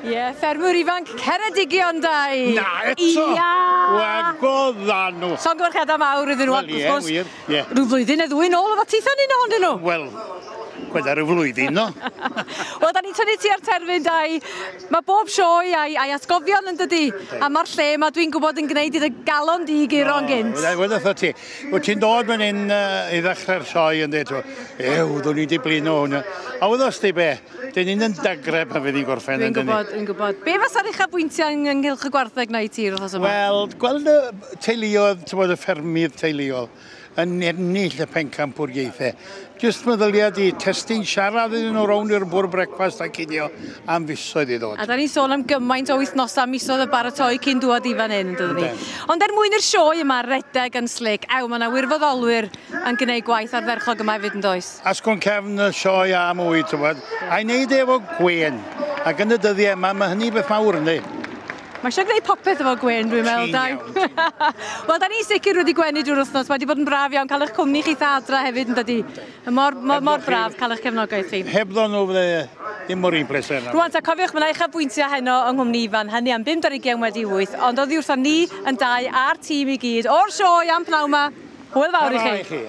Ie, yeah, ffermwyr ifanc Ceredigion, Dai. Na, eto! Ia! Wagodd nhw. Llongyfarchiadau mawr iddyn nhw, Wel, ie, wrth gwrs. wir, ie. Rhyw flwyddyn neu ddwy nôl oedd titha'n un ohonyn nhw. Wel, gweda rhyw flwyddyn, no? Wel, da ni'n tynnu ti ar terfyn, Dai. Mae bob sioe a'i atgofion yn dydi. A mae'r lle yma, dwi'n gwybod, yn gwneud i dy galon di guro'n gynt. Wel, wrtho ti. Wyt ti'n dod fan hyn i ddechrau'r sioe yn dweud, ew, ddwn i di blino hwnna. A wyddos di be, dyn ni'n yn dagrau pan fydd hi'n gorffen Dwi'n yn dyn ni. gwybod, dwi'n gwybod. Be fasa'r uchafbwyntiau ynghylch y gwartheg na i ti yr wythnos yma? Wel, gweld y teuluoedd, ti'n bod, y ffermydd teuluol, yn ennill y pencampwriaethau. Jyst meddylia di, testyn siarad iddyn nhw rownd i'r bwrdd brecwast a cinio am fisoedd i ddod. A da ni'n sôn am gymaint o wythnosau, misoedd o baratoi cyn dŵad i fan hyn, yn dydyn ni. Yndyn. Ond er mwyn i'r sioe yma redeg yn slick, ew, mae yna wirfoddolwyr yn gwneud gwaith ardderchog yma hefyd yn does? Asgwrn cefn y sioe a mwy, ti'n bod. A'i wneud efo gwên. Ac yn y dyddiau yma, mae hynny beth mawr, yndi? Mae eisiau gwneud popeth efo gwên, dwi'n meddwl, Ti'n Dai. iawn, Wel, da ni'n sicr wedi gwenu drwy'r wythnos. Mae wedi bod yn braf iawn cael eich cwmni chi adra hefyd, yn dydi? Mor, mor, mor braf cael eich cefnogaeth chi. Hebddo nhw fydde ddim mor un pleser na. Rwan ta, cofiwch, mae yna uchafbwyntiau heno yng nghwmni Ifan, hynny am 7:20, ond oddi wrthon ni yn dau a'r tîm i gyd o'r sioe am pnawn 'ma. Hwyl fawr i Tara chi. i chi.